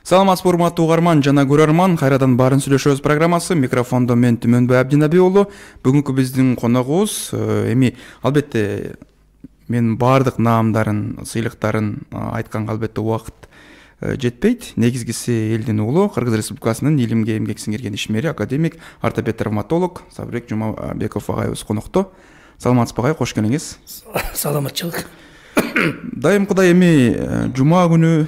Саламатсызбы урматтуу угарман жана көрөрман, кайрадан баарын сүйлөшөбүз программасы. Микрофондо мен Түмөнбай Абдинабий уулу. Бүгүнкү биздин коногубуз эми албетте мен баардык наамдарын, сыйлыктарын айтканга албетте убакыт жетпейт. Негизгиси элдин уулу, Кыргыз Республикасынын илимге эмгек сиңирген ишмери, академик, ортопед травматолог Сабырбек Жумабеков агайыбыз конокто. Саламатсызбы агай, кош келиңиз. Саламатчылык. Дайымкыдай эми жума күнү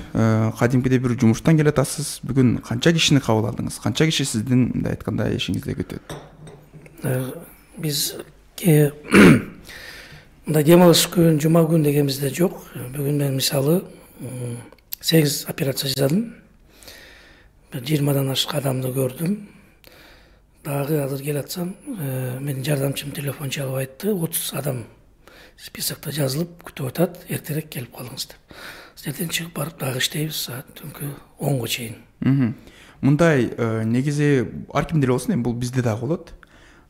кадимкидей бир жумуштан келатасыз. Бүгүн канча кишини кабыл алдыңыз? Канча киши сиздин мындай айтканда ишиңизде күтөт? Биз мындай дем алыш күн, жума күн дегенбизде жок. Бүгүн мен мисалы 8 операция жасадым. 20-дан ашык адамды көрдүм. Дагы азыр келатсам, менин жардамчым телефон чалып айтты, 30 адам списокто жазылып күтүп атат, эртерээк келип калыңыз деп. Сиздерден чыгып барып дагы иштейбиз саат түнкү 10го чейин. Мындай негизи ар кимде эле болсун, эми бул бизде дагы болот.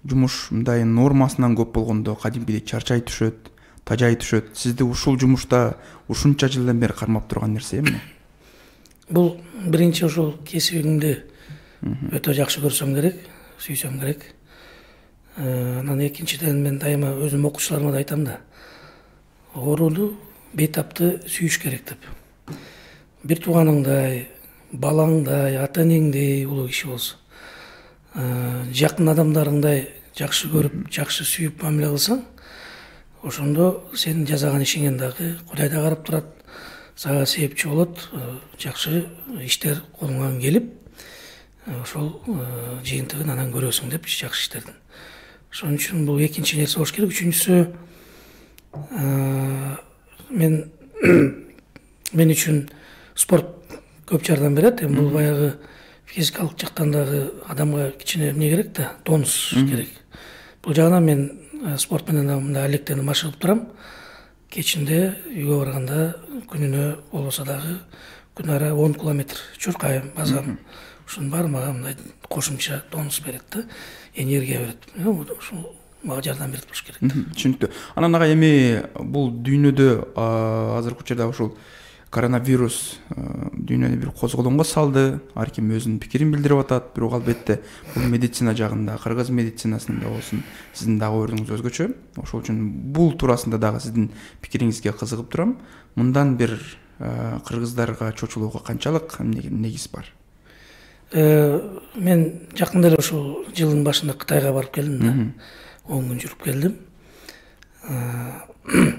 Жумуш мындай нормасынан көп болгондо кадимкидей чарчай түшөт, тажай түшөт. Сизди ушул жумушта ушунча жылдан бери кармап турган нерсе эмне? Бул биринчи ушул кесибимди өтө жакшы көрсөм керек, сүйсөм керек. Анан экинчиден мен дайыма өзүм окуучуларыма да айтам да, ооруну, бейтапты сүйүш керек деп. Бир тууганыңдай, балаңдай, ата энеңдей улуу киши болсо, жакын адамдарыңдай жакшы көрүп, жакшы сүйүп мамиле кылсаң, ошондо сенин жасаган ишиңен дагы Кудай да карап турат, сага себепчи болот, жакшы иштер колуңан келип, ошол жыйынтыгын анан көрөсүң деп жакшы иштердин. Ошон үчүн бул экинчи нерсе болуш керек. Үчүнчүсү, мен үчүн спорт көп жардам берет. Эми бул баягы физикалык жактан дагы адамга кичине эмне керек да, тонус керек. Бул жагынан мен спорт менен мындай алектенип машыгып турам. Кечинде үйгө барганда күнүнө болбосо дагы күн ара 10 километр чуркайм, базам. Ушунун баары мага мындай кошумча тонус берет да, энергия берет. Ушул мага жардам берет болуш керек. Түшүнүктүү. Анан ага эми бул дүйнөдө азыркы учурда ушул коронавирус дүйнөнү бир козголоңго салды. Ар ким өзүнүн пикирин билдирип атат. Бирок албетте бул медицина жагында, кыргыз медицинасында болсун, сиздин дагы ойдуңуз өзгөчө. Ошол үчүн бул туурасында дагы сиздин пикириңизге кызыгып турам. Мындан бир кыргыздарга чочулууга канчалык негиз бар? Мен жакында эле ушул жылдын башында Кытайга барып келдим да. 10 күн жүрүп келдим.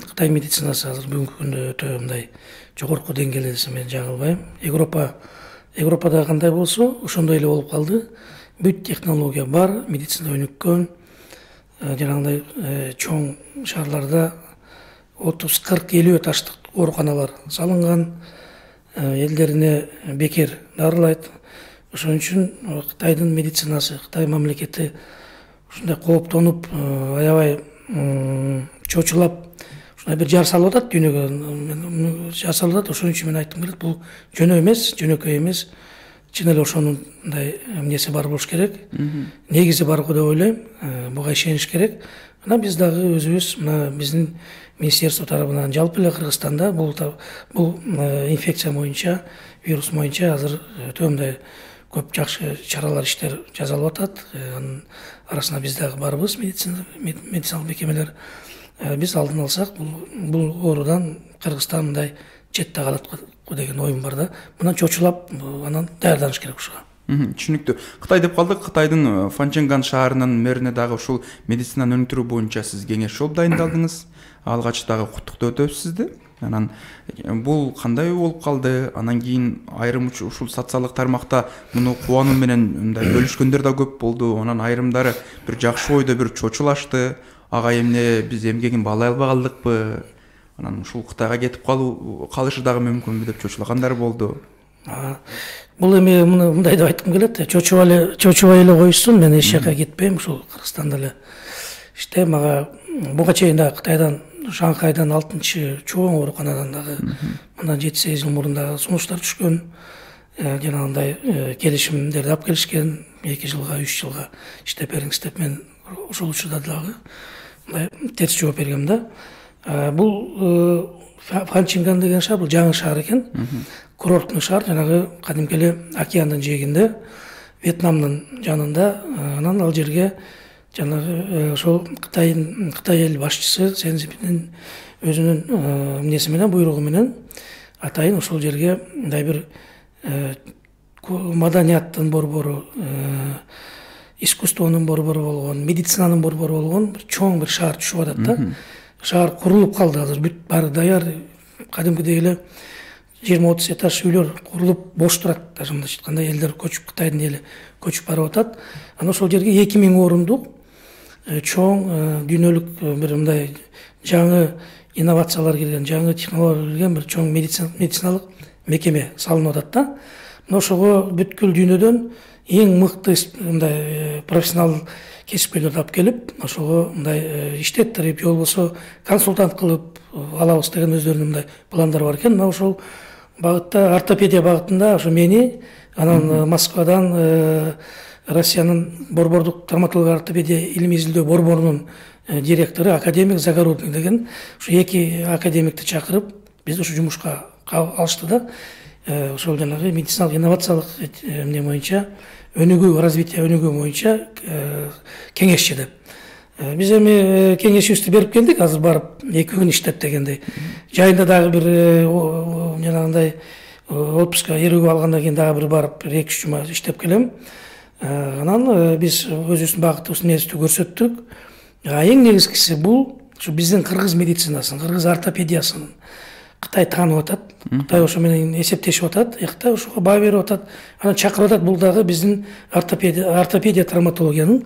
Кытай медицинасы азыр бүгүнкү күндө өтө мындай жогорку деңгээлде десем мен жаңылбайм. Европада кандай болсо, ошондой эле болуп калды. Бүт технология бар, медицина өнүккөн. Жанагындай чоң шаарларда 30, 40, 50 этаждык ооруканалар салынган. Элдерине бекер дарылайт. Ошон үчүн Кытайдын медицинасы, Кытай мамлекети ушундай кооптонуп, аябай чочулап, ушундай бир жар салып атат дүйнөгө, жар салып атат. Ошон үчүн мен айткым келет, бул жөнөкөй эмес, чын эле ошонун мындай эмнеси бар болуш керек, негизи бар го деп ойлойм. Буга ишениш керек. Анан биз дагы өзүбүз мына биздин министерство тарабынан жалпы эле Кыргызстанда бул инфекция боюнча, вирус боюнча азыр өтө мындай көп жакшы чаралар, иштер жасалып атат. Анын арасында биз дагы барбыз, медициналык мекемелер. Биз алдын алсак, бул оорудан Кыргызстан мындай четте калат го деген оюм бар да. Мындан чочулап, анан даярданыш керек ушуга. Түшүнүктүү. Кытай деп калдык. Кытайдын Фанченган шаарынын мэрине дагы ушул медицинаны өнүктүрүү боюнча сиз кеңеш алып дайындалдыңыз. Алгач дагы куттуктап өтөбүз сизди. Анан бул кандай болуп калды? Анан кийин айрым ушул социалдык тармакта муну кубануу менен мындай бөлүшкөндөр да көп болду. Анан айрымдары бир жакшы ойдо бир чочулашты. Ага эмне биз эмгегин баалай албай калдыкпы? Анан ушул Кытайга кетип калышы дагы мүмкүнбү деп чочулагандар болду. Бул эми мындай деп айткым келет. Чочубай эле коюшсун, мен эч жака кетпейм, ушул Кыргызстанда эле иштейм. Мага буга чейин да Кытайдан, Шанхайдан 6-чы чоң ооруканадан дагы мындан 7-8 жыл мурун дагы сунуштар түшкөн. Жанагындай келишимдерди алып келишкен, 2 жылга, 3 жылга иштеп бериңиз деп. Мен ошол учурда дагы мындай терс жооп бергем да. Бул Фанченган деген шаар, бул жаңы шаар экен. курорттук шаар, жанагы кадимки эле океандын жээгинде, Вьетнамдын жанында. Анан ал жерге жанагы ошол Кытай эл башчысы Си Цзиньпиндин өзүнүн эмнеси менен, буйругу менен атайын ошол жерге мындай бир маданияттын борбору, искусствонун борбору болгон, медицинанын борбору болгон бир чоң бир шаар түшүп атат да. Шаар курулуп калды азыр, бүт баары даяр, кадимкидей эле 20-30 этаж үйлөр курулуп бош турат. Даже мындайча айтканда элдер көчүп, Кытайдын эли көчүп барып атат. Анан ошол жерге 2000 орундук чоң дүйнөлүк бир мындай жаңы инновациялар кирген, жаңы технологиялар кирген бир чоң медициналык мекеме салынып атат да. Мына ошого бүткүл дүйнөдөн эң мыкты мындай профессионал кесипкөйлөрдү алып келип, ошого мындай иштеттирип, же болбосо консультант кылып алабыз деген өздөрүнүн мындай пландары бар экен. Мына ошол багытта, ортопедия багытында ошо мени, анан Москвадан Россиянын борбордук травматология ортопедия илимий изилдөө борборунун директору академик Загородный деген ушу 2 академикти чакырып бизди ушу жумушка алышты да. Ошол жанагы медициналык инновациялык эмне боюнча, өнүгүү, развитие өнүгүү боюнча кеңешчи деп. Биз эми кеңешибизди берип келдик, азыр барып 2 күн иштеп дегендей. Жайында дагы бир жанагындай отпуска эрүүгө алгандан кийин дагы бир барып 2-3 жума иштеп келем. Анан биз өзүбүздүн багытыбыздын нерсти көрсөттүк. Эң негизгиси бул ушу биздин кыргыз медицинасын, кыргыз ортопедиясын Кытай таанып атат. Кытай ошо менен эсептешип атат. Кытай ошого баа берип атат. Анан чакырып атат. Бул дагы биздин ортопедия травматологиянын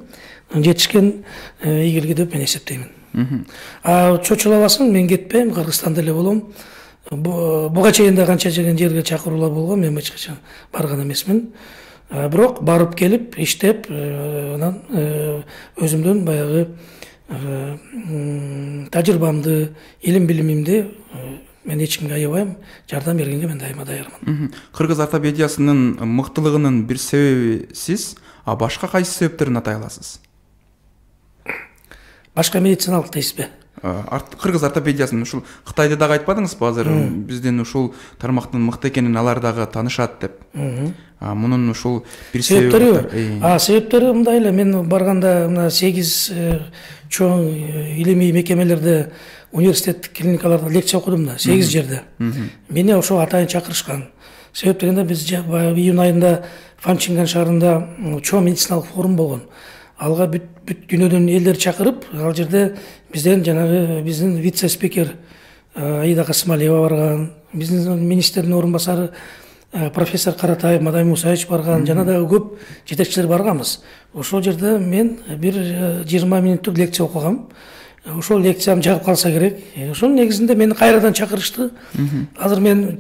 жетишкен ийгилиги деп мен эсептеймин. Чочулабасын, мен кетпейм, Кыргызстанда эле болом. Буга чейин да канча жерге чакыруулар болгон, мен эч качан барган эмесмин. Бирок барып келип, иштеп, анан өзүмдүн баягы тажрыйбамды, илим билимимди мен эч кимге аябайм, жардам бергенге мен дайыма даярмын. Кыргыз ортопедиясынын мыктылыгынын бир себеби сиз, а башка кайсы себептерин атай аласыз? Башка медициналык дейсизби? Кыргыз ортопедиясын ушул Кытайды дагы айтпадыңызбы азыр? Биздин ушул тармактын мыкты экенин алар дагы таанышат деп. Мунун ушул бир себептери. Себептери мындай эле, мен барганда мына 8 чоң илимий мекемелерде, университеттик клиникаларда лекция окудум да, 8 жерде. Мени ошо атайын чакырышкан. Себеп дегенде биз июнь айында Фанчинган шаарында чоң медициналык форум болгон. Алга бүт дүйнөдөн элдер чакырып, ал жерде бизден жанагы биздин вице-спикер Аида Касымалиева барган, биздин министрдин орун басары профессор Каратаев Мадай Мусаевич барган, жана дагы көп жетекчилер барганбыз. Ошол жерде мен бир 20 мүнөттүк лекция окугам. Ошол лекциям жагып калса керек. Ошонун негизинде мени кайрадан чакырышты. Азыр мен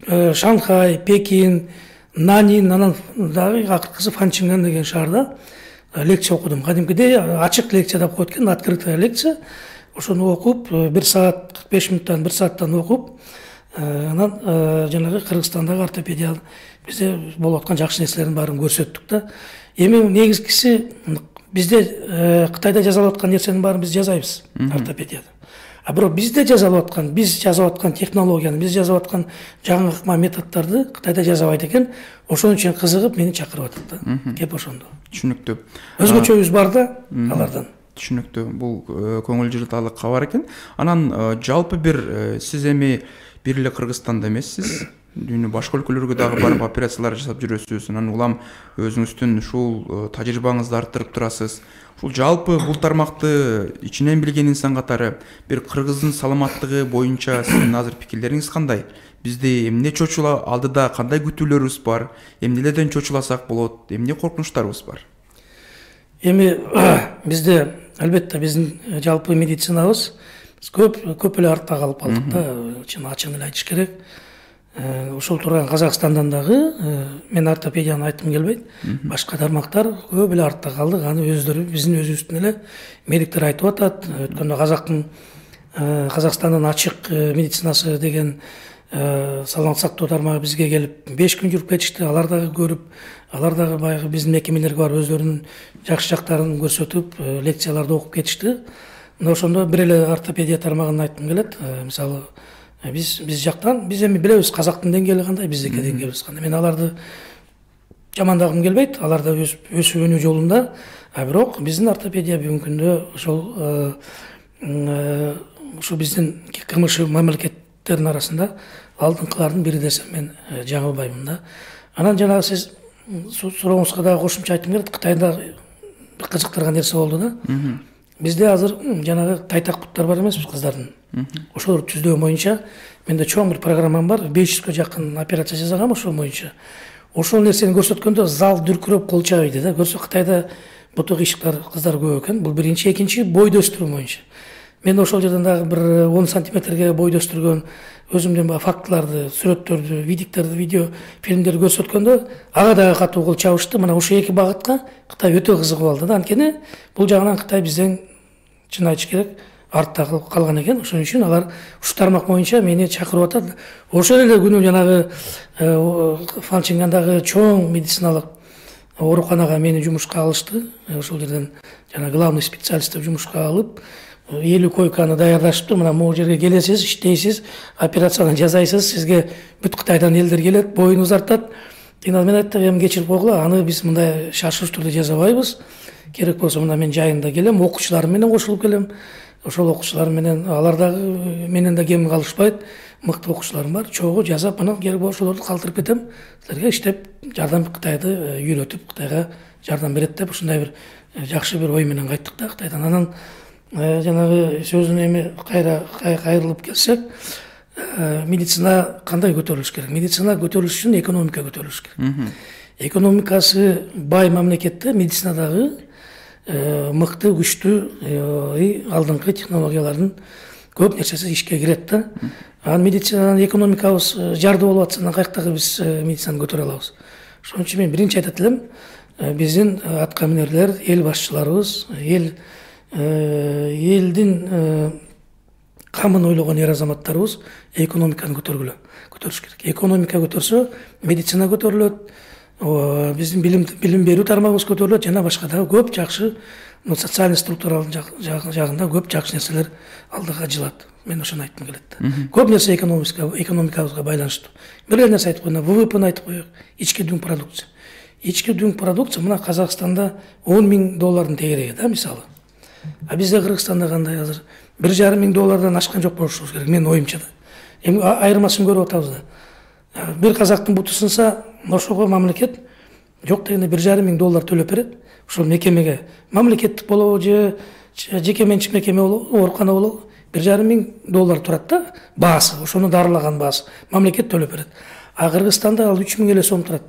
Шанхай, Пекин, Нанин, анан дагы акыркысы Фанчинган деген шаарда лекция окудум. Кадимкидей ачык лекция деп коет экен, открытая лекция. Ошону окуп, 1 саат 45 мүнөттөн 1 сааттан окуп, анан жанагы Кыргызстандагы ортопедия бизде болуп аткан жакшы нерселердин баарын көрсөттүк да. Эми негизгиси бизде Кытайда жасалып аткан нерсенин баарын биз жасайбыз ортопедияда. Бирок бизде жасалып аткан, биз жасап аткан технологияны, биз жасап аткан жаңы методдорду Кытайда жасабайт экен. Ошон үчүн кызыгып мени чакырып атат да. Кеп ошондо. Түшүнүктүү. Өзгөчөбүз бар да алардан. Түшүнүктүү. Бул көңүл жылтарлык кабар экен. Анан жалпы бир сиз эми бир эле Кыргызстанда эмессиз. Дүйнө башка өлкөлөргө дагы барып операциялар жасап жүрөсүз. Анан улам өзүңүздүн ушул тажрыйбаңызды арттырып турасыз. Ушул жалпы бул тармакты ичинен билген инсан катары бир кыргыздын саламаттыгы боюнча сиздин азыр пикирлериңиз кандай? Бизде эмне чочула алдыда, кандай күтүүлөрүбүз бар? Эмнелерден чочуласак болот? Эмне коркунучтарыбыз бар? Эми бизде албетте биздин жалпы медицинабыз көп эле артта калып калдык да, ачыгын эле айтыш керек. Ошол турган Казакстандан дагы мен ортопедияны айткым келбейт. Башка тармактар көп эле артта калдык. Аны өздөрү биздин өзүбүздүн эле медиктер айтып атат. Өткөндө Казакстандын ачык медицинасы деген саламат сактоо тармагы бизге келип 5 күн жүрүп кетишти. Алар дагы көрүп, алар дагы баягы биздин мекемелерге барып өздөрүнүн жакшы жактарын көрсөтүп, лекцияларды окуп кетишти. Мына ошондо бир эле ортопедия тармагын айткым келет. Мисалы Биз жактан биз эми билебиз казактын деңгээли кандай, биздики деңгээлибиз кандай. Мен аларды жамандагым келбейт, алар да өсүп өнүү жолунда. Бирок биздин ортопедия бүгүнкү күндө ошол биздин КМШ мамлекеттердин арасында алдыңкылардын бири десем мен жаңылбаймын да. Анан жанагы сиз сурооңузга дагы кошумча айтым келет. Кытайда бир кызыктырган нерсе болду да. Бизде азыр жанагы тайтак буттар бар эмеспи кыздардын. Ошолорду түздөө боюнча менде чоң бир программам бар. 500га жакын операция жасагам ошол боюнча. Ошол нерсени көрсөткөндө зал дүркүрөп кол чабыйды да. Көрсө Кытайда буту кыйшыктар кыздар көп экен. Бул биринчи, экинчи бойду өстүрүү боюнча. Мен ошол жерден дагы бир 10 сантиметрге бойду өстүргөн өзүмдүн фактыларды, сүрөттөрдү, видео фильмдерди көрсөткөндө ага дагы катуу кол чабышты. Мына ошол эки багытка Кытай өтө кызыгып алды да. Анткени бул жагынан Кытай бизден чын айтыш керек артта калган экен. Ошон үчүн алар ушу тармак боюнча мени чакырып атат. Ошол эле күнү жанагы Фанчингандагы чоң медициналык ооруканага мени жумушка алышты. Ошол жерден жана главный специалист деп жумушка алып 50 койканы даярдашыптыр. Мына могу жерге келесиз, иштейсиз, операцияны жасайсыз, сизге бүт Кытайдан элдер келет, боюн узартат. Мен айттым, эми кечирип койгула, аны биз мындай шашылыш түрдө жасабайбыз. Керек болсо мына мен жайында келем, окуучуларым менен кошулуп келем. Ошол окуучулар менен алар дагы менен да кем калышпайт. Мыкты окуучуларым бар. Чогуу жасап, анан керек болсо ошолорду калтырып кетем. Силерге иштеп жардам Кытайды үйрөтүп, Кытайга жардам берет деп ушундай бир жакшы бир ой менен кайттык да Кытайдан. Анан жанагы сөзүнө эми кайрылып келсек, медицина кандай көтөрүлүш керек? Медицина көтөрүлүш үчүн экономика көтөрүлүш керек. Экономикасы бай мамлекетте медицинадагы мыкты, күчтүү, алдыңкы технологиялардын көп нерсеси ишке кирет да. Анан медицинадан экономикабыз жарды болуп атса, каяктагы биз медицинаны көтөрө алабыз. Ошон үчүн мен биринчи айтат элем, биздин аткаминерлер, эл башчыларыбыз, элдин камын ойлогон эр азаматтарыбыз экономиканы көтөрүш керек. Экономика көтөрсө, медицина көтөрүлөт, биздин билим берүү тармагыбыз көтөрүлөт, жана башка дагы көп жакшы социалдык структуралдын жагында көп жакшы нерселер алдыга жылат. Мен ошону айткым келет. Көп нерсе экономикабызга байланыштуу. Бир эле нерсе айтып коеюн, ВВПны айтып коелук. Ички дүң продукция. Ички дүң продукция мына Казакстанда $10,000 тегереги да, мисалы. Бизде Кыргызстанда кандай азыр $1,5 ашкан жок болушубуз керек, менин оюмча да. Эми айырмасын көрүп атабыз да. Бир казактын буту сынса, ошого мамлекет жок дегенде $1,5 төлөп берет. Ошол мекемеге мамлекеттик болобу же жеке менчик мекеме болобу, оорукана болобу, $1,5 турат да, баасы, ошону дарылаган баасы мамлекет төлөп берет. Кыргызстанда ал 3,000 эле сом турат.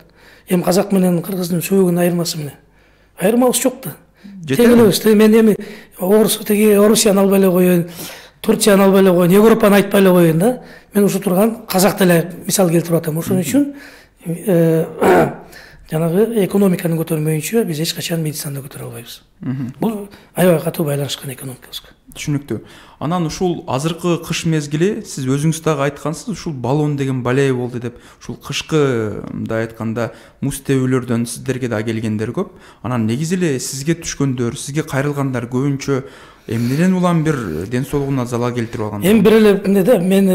Эми казак менен кыргыздын сөөгүн айырмасы эмне? Айырмабыз жок да. Тегелебиз. Мен эми Орусияны албай эле коеюн, Турцияны албай эле коеюн, Европаны айтпай эле коеюн да. Мен ушу турган казак эле мисал келтирип атам. Ошон үчүн жанагы экономиканы көтөрмөйүнчө биз эч качан медицинаны көтөрө албайбыз. Бул аябай катуу байланышкан экономикабызга. Түшүнүктүү. Анан ушул азыркы кыш мезгили сиз өзүңүз дагы айткансыз, ушул баллон деген балея болду деп. Ушул кышкы мындай айтканда муз тебүүлөрдөн сиздерге да келгендер көп. Анан негизи эле сизге түшкөндөр, сизге кайрылгандар көбүнчө эмнеден улам бир ден соолугуна залал келтирип алган? Эми бир эле эмне да, мен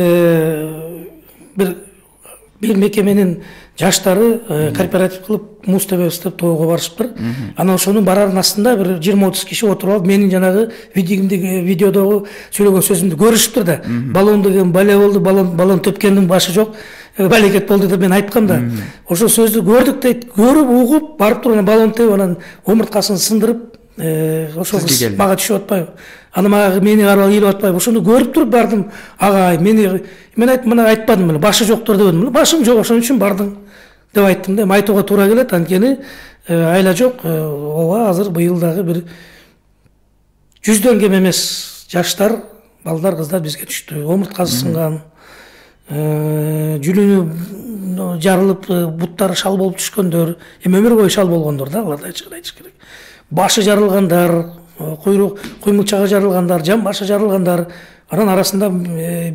бир мекеменин жаштары кооператив кылып муз тебебиз деп тоого барышыптыр. Анан ошонун барарынын астында бир 20-30 киши отуруп алып, менин жанагы видеодогу сүйлөгөн сөзүмдү көрүшүптүр да. Баллон деген бале болду, баллон төпкөндүн башы жок, балекет болду деп мен айткам да. Ошол сөздү көрдүк дейт, көрүп, угуп, барып туруп баллон тебип, анан омурткасын сындырып, ошол мага түшүп атпайбы? Аны мага мени карап ийилип атпайбы? Ошону көрүп туруп бардым. Ага, мен айттым, мына айтпадым эле, башы жоктур дебедим. Башым жок, ошон үчүн бардым деп айттым да. Айтууга туура келет, анткени айла жок. Ооба, азыр быйыл дагы бир 100дөн кем эмес жаштар, балдар, кыздар бизге түштү. Омурткасы сынган, жүлүнү жарылып, буттары шал болуп түшкөндөр, эми өмүр бою шал болгондор да, аларды айтыш керек. Башы жарылгандар, куймулчагы жарылгандар, жан башы жарылгандар, анан арасында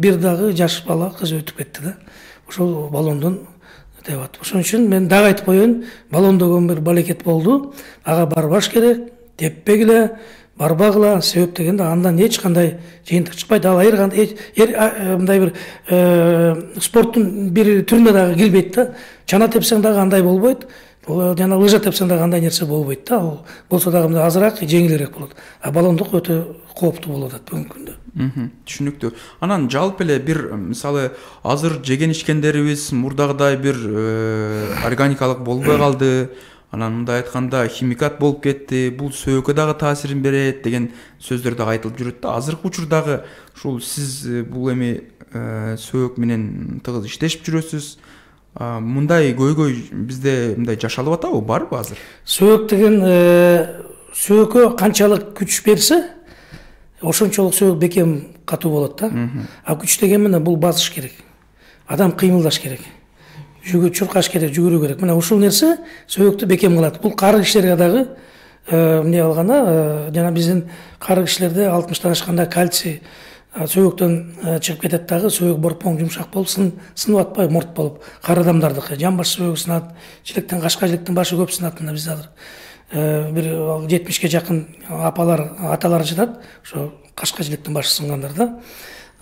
бир дагы жаш бала кыз өтүп кетти да. Ошол баллондон деп атып. Ошон үчүн мен дагы айтып коеюн, баллон деген бир балекет болду. Ага барбаш керек, теппегиле. барбагыла, себеп дегенде андан эч кандай жыйынтык чыкпайт. Ал мындай бир спорттун бир түрүнө дагы кирбейт да. Чана тепсең дагы андай болбойт. Жана лыжа тепсең дагы андай нерсе болбойт да. Ал болсо дагы мындай азыраак, жеңилирээк болот. А баллондук өтө кооптуу болуп атат бүгүнкү күндө. Түшүнүктүү. Анан жалпы эле бир мисалы азыр жеген ичкендерибиз мурдагыдай бир органикалык болбой калды. Анан мындай айтканда химикат болуп кетти, бул сөөгкө дагы таасирин берет деген сөздөр дагы айтылып жүрөт да. Азыркы учурдагы ушул сиз бул эми сөөк менен тыгыз иштешип жүрөсүз. Мындай көйгөй бизде мындай жашалып атабы, барбы азыр? Сөөк деген сөөккө канчалык күч берсе, ошончолук сөөк бекем катуу болот да. А күч деген менен бул басыш керек. Адам кыймылдаш керек. Чуркаш керек, жүгүрүү керек. Мына ушул нерсе сөөктү бекем кылат. Бул кары кишилерге дагы эмне алганда, жана биздин кары кишилерде 60-тан ашканда кальций сөөктөн чыгып кетет дагы, сөөк борпоң жумшак болуп сынып атпайбы, мурт болуп. Кары адамдардыкы жан баш сөөгү сынат, жилектен кашка жилектин башы көп сынат. Мына бизде азыр бир 70-ке жакын апалар, аталар жатат, ошо кашка жилектин башы сынгандар да.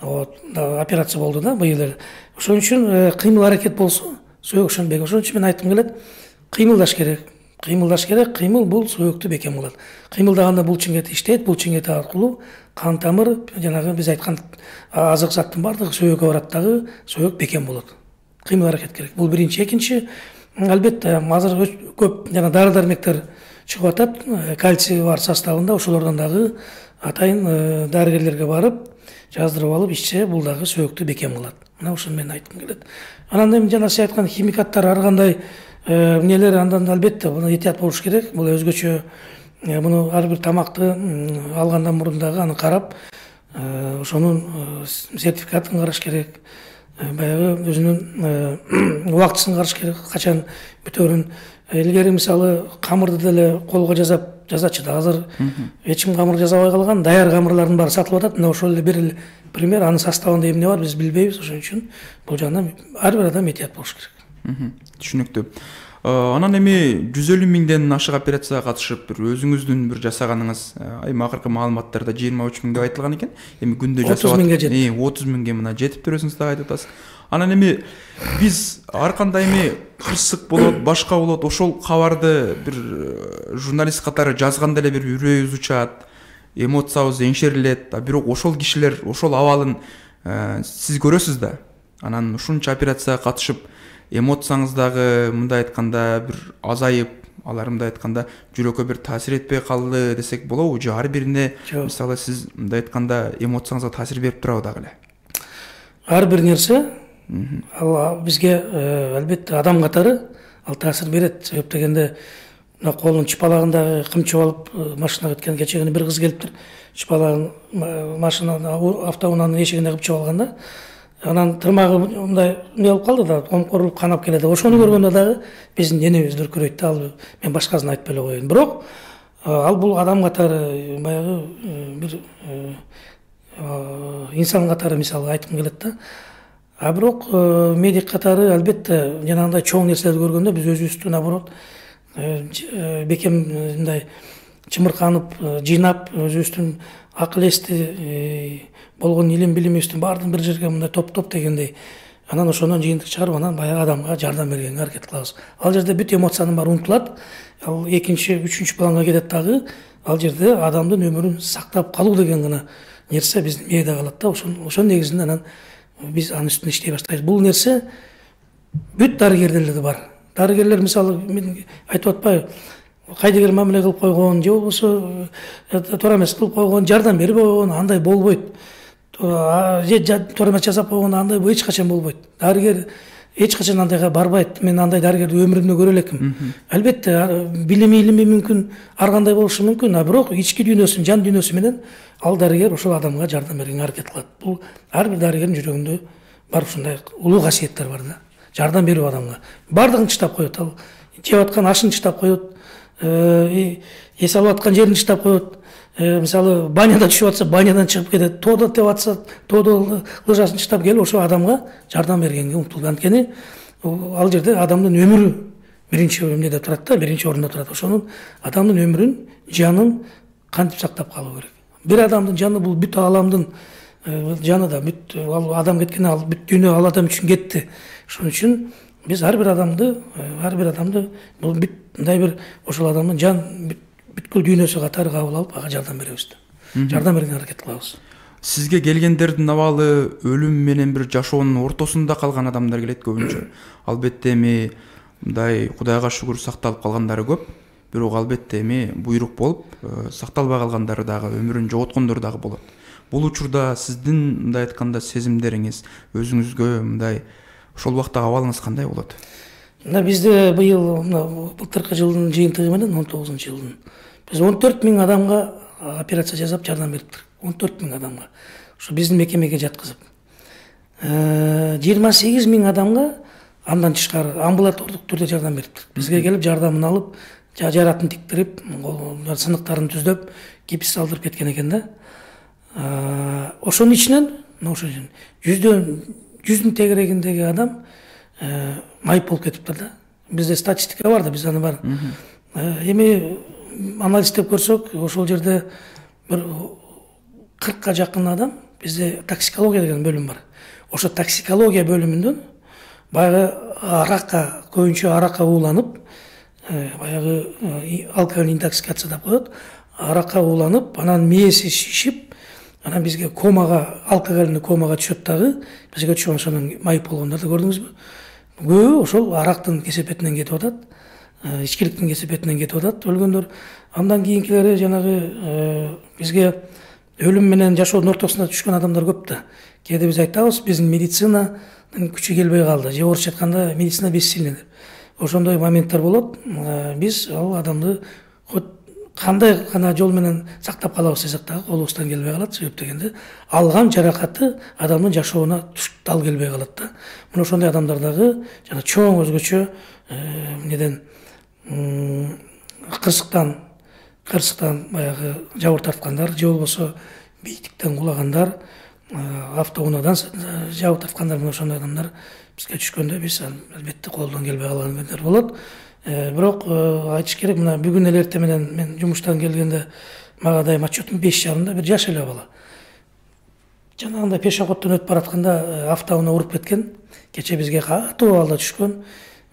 Вот, операция болду да быйыл. Ошон үчүн кыймыл аракет болсо сөөк ошону бекем. Ошон үчүн мен айткым келет, кыймылдаш керек. Кыймылдаш керек. Кыймыл бул сөөктү бекем кылат. Кыймылдаганда булчуңет иштейт, булчуңет аркылуу кан тамыр, жанагы биз айткан азык заттын баардыгы сөөккө барат дагы, сөөк бекем болот. Кыймыл аракет керек. Бул биринчи. Экинчи, албетте азыр көп жана дары-дармектер чыгып атат, кальций бар составында, ошолордон дагы атайын дарыгерлерге барып жаздырып алып ичсе, бул дагы сөөктү бекем кылат. Мына ушуну мен айткым келет. Анан эми жана сиз айткан химикаттар ар кандай эмнелер, андан албетте муну этият болуш керек. Бул өзгөчө муну ар бир тамакты алгандан мурун дагы аны карап, ошонун сертификатын караш керек. Баягы өзүнүн убактысын караш керек, качан бүтөөрүн. Илгери мисалы камырды деле колго жазачы да. Азыр эч ким камыр жасабай калган, даяр камырлардын баары сатылып атат. Мына ошол эле бир пример, анын составында эмне бар биз билбейбиз. Ошон үчүн бул жагынан ар бир адам этият болуш керек. Түшүнүктүү. Анан эми 150 миңден ашык операцияга катышып, бир өзүңүздүн бир жасаганыңыз акыркы маалыматтарда 23 миң деп айтылган экен. Эми күндө жасап 30 миңге жетти. 30 миңге мына жетиптир, өзүңүз дагы айтып атасыз. Анан эми биз ар кандай эми кырсык болот, башка болот, ошол кабарды бир журналист катары жазганда эле бир үрөйүбүз учат, эмоциябыз эңшерилет. Бирок ошол кишилер ошол абалын сиз көрөсүз да. Анан ушунча операцияга катышып, эмоцияңыз дагы мындай айтканда бир азайып, алар мындай айтканда жүрөккө бир таасир этпей калды десек болобу? Же ар бирине мисалы сиз мындай айтканда эмоцияңызга таасир берип турабы дагы эле? Ар бир нерсе ал бизге албетте адам катары ал таасир берет. Себеп дегенде мына колунун чыпалагындагы кымчып алып машинага өткөн кечегине бир кыз келиптир. Чыпалагын машинанын автоунаанын эшигине кымчып алганда, анан тырмагы мындай эмне болуп калды да, комкорулуп канап келет. Ошону көргөндө дагы биздин денебиз дүркүрөйт да. Ал мен башкасын айтпай эле коеюн. Бирок ал бул адам катары баягы бир инсан катары мисалы айткым келет да. А бирок медик катары албетте жанагындай чоң нерселерди көргөндө биз өзүбүздү наоборот бекем мындай чымырканып, жыйнап, өзүбүздүн акыл эсти болгон илим билимибиздин баардыгын бир жерге мындай топтоп дегендей, анан ошондон жыйынтык чыгарып, анан баягы адамга жардам бергенге аракет кылабыз. Ал жерде бүт эмоциянын баары унутулат. Ал экинчи, үчүнчү планга кетет дагы. Ал жерде адамдын өмүрүн сактап калуу деген гана нерсе биздин мээде калат да. Ошонун негизинде анан биз анын үстүндө иштей баштайбыз. Бул нерсе бүт дарыгерлерде бар. Дарыгерлер мисалы мен айтып атпайбы, кайдыгер мамиле кылып койгон, же болбосо туура эмес кылып койгон, жардам бербей койгон, андай болбойт. Же туура эмес жасап койгон, андай эч качан болбойт. Дарыгер эч качан андайга барбайт. Мен андай дарыгерди өмүрүмдө көрө элекмин. Албетте илими мүмкүн ар кандай болушу мүмкүн, а бирок ички дүйнөсүн, жан дүйнөсү менен ал дарыгер ошол адамга жардам бергенге аракет кылат. Бул ар бир дарыгердин жүрөгүндө бар ушундай улуу касиеттер бар да. Жардам берүү адамга. Бардыгын чыштап коет. Ал жеп аткан ашын чыштап коет, эс алып аткан жерин чыштап коет. Мисалы баняда түшүп атса, банядан чыгып кетет. Тоодо теп атса, тоодо лыжасын чыштап келип ошол адамга жардам бергенге умтулган. Анткени ал жерде адамдын өмүрү биринчи эмнеде турат да, биринчи орунда турат. Ошонун адамдын өмүрүн, жанын кантип сактап калуу керек? Бир адамдын жаны бул бүт ааламдын жаны да, бүт адам кеткен ал бүт дүйнө ал адам үчүн кетти. Ошон үчүн биз ар бир адамды бул бүт мындай бир ошол адамдын жан бүткүл дүйнөсү катары кабыл алып ага жардам беребиз да. Жардам берүүгө аракет кылабыз. Сизге келгендердин абалы өлүм менен бир жашоонун ортосунда калган адамдар келет көбүнчө. Албетте эми мындай Кудайга шүгүр сакталып калгандары көп. Бирок албетте эми буйрук болуп сакталбай калгандары дагы, өмүрүн жоготкондор дагы болот. Бул учурда сиздин мындай айтканда сезимдериңиз, өзүңүзгө мындай ошол убактагы абалыңыз кандай болот? Мына бизде быйыл былтыркы жылдын жыйынтыгы менен 19-жылдын биз 14 000 адамга операция жасап жардам бериптир. 14 000 адамга. Ошо биздин мекемеге жаткызып. 28 000 адамга андан тышкары амбулатордук түрдө жардам бериптир. Бизге келип жардамын алып, жаратын тиктирип, сыныктарын түздөп, гипс салдырып кеткен экен да. Ошонун ичинен, жүздүн тегерегиндеги адам майып болуп кетиптир да. Бизде статистика бар да, биз аны бар. Эми анализдеп көрсөк, ошол жерде бир 40ка жакын адам, бизде токсикология деген бөлүм бар. Ошо токсикология бөлүмүндөн баягы аракка, көбүнчө аракка ууланып, баягы алкогольный интоксикация деп коет. Аракка ууланып, анан мээси шишип, анан бизге комага, алкогольный комага түшөт дагы. Бизге түшүп ошонун майып болгондорду көрдүңүзбү? Көбү ошол арактын кесепетинен кетип атат, ичкиликтин кесепетинен кетип атат өлгөндөр. Андан кийинкилери жанагы бизге өлүм менен жашоонун ортосуна түшкөн адамдар көп да. Кээде биз айтабыз, биздин медицинанын күчү келбей калды, же орусча айтканда медицина бессильный деп. Ошондой моменттер болот. Биз ал адамды кандай гана жол менен сактап калабыз десек дагы колубуздан келбей калат. Себеп дегенде алган жаракаты адамдын жашоонуна дал келбей калат да. Мына ошондой адамдар дагы жана чоң өзгөчө неден кырсыктан баягы жабыр тарткандар, же болбосо бийиктиктен кулагандар, автоунаадан жабыр тарткандар, мына ошондой адамдар бизге түшкөндө биз албетте колдон келбей калгандар болот. Бирок айтыш керек, мына бүгүн эле эртең менен мен жумуштан келгенде мага дайым отчетум 5:30 бир жаш эле бала. Жанагындай пешоходдон өтүп баратканда автоунаа уруп кеткен. Кече бизге катуу абалда түшкөн.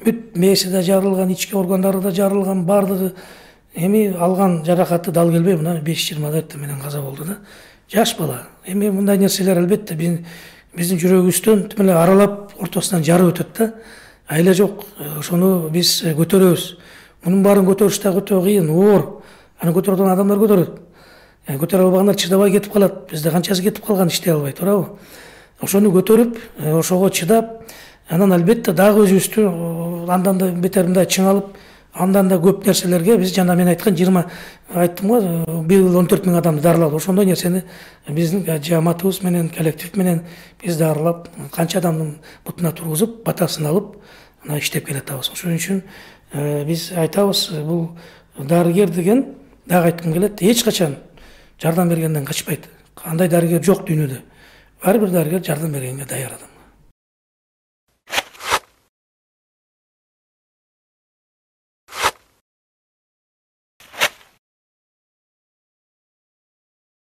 Бүт мээси да жарылган, ички органдары да жарылган, бардыгы эми алган жаракаты дал келбей, мына 5:20 эртең менен каза болду да. Жаш бала. Эми мындай нерселер албетте биздин жүрөгүбүздөн тим эле аралап ортосунан жарып өтөт да. Айла жок, ошону биз көтөрөбүз. Мунун баарын көтөрүш да өтө кыйын, оор. Аны көтөрөдөн адамдар көтөрөт. Көтөрө албагандар чыдабай кетип калат. Бизде канчасы кетип калган иштей албай, туурабы? Ошону көтөрүп, ошого чыдап, анан албетте дагы өзүбүздү андан да бетер мындай чыңалып, андан да көп нерселерге биз жана мен айткан 20 айттым го, быйыл 14 000 адамды дарылап, ошондой нерсени биздин жамаатыбыз менен, коллектив менен биз дарылап, канча адамдын бутуна тургузуп, батасын алып, ана иштеп келатабыз. Ошон үчүн биз айтабыз, бул дарыгер деген дагы айткым келет, эч качан жардам бергенден качпайт. Кандай дарыгер жок дүйнөдө. Ар бир дарыгер жардам бергенге даяр адам.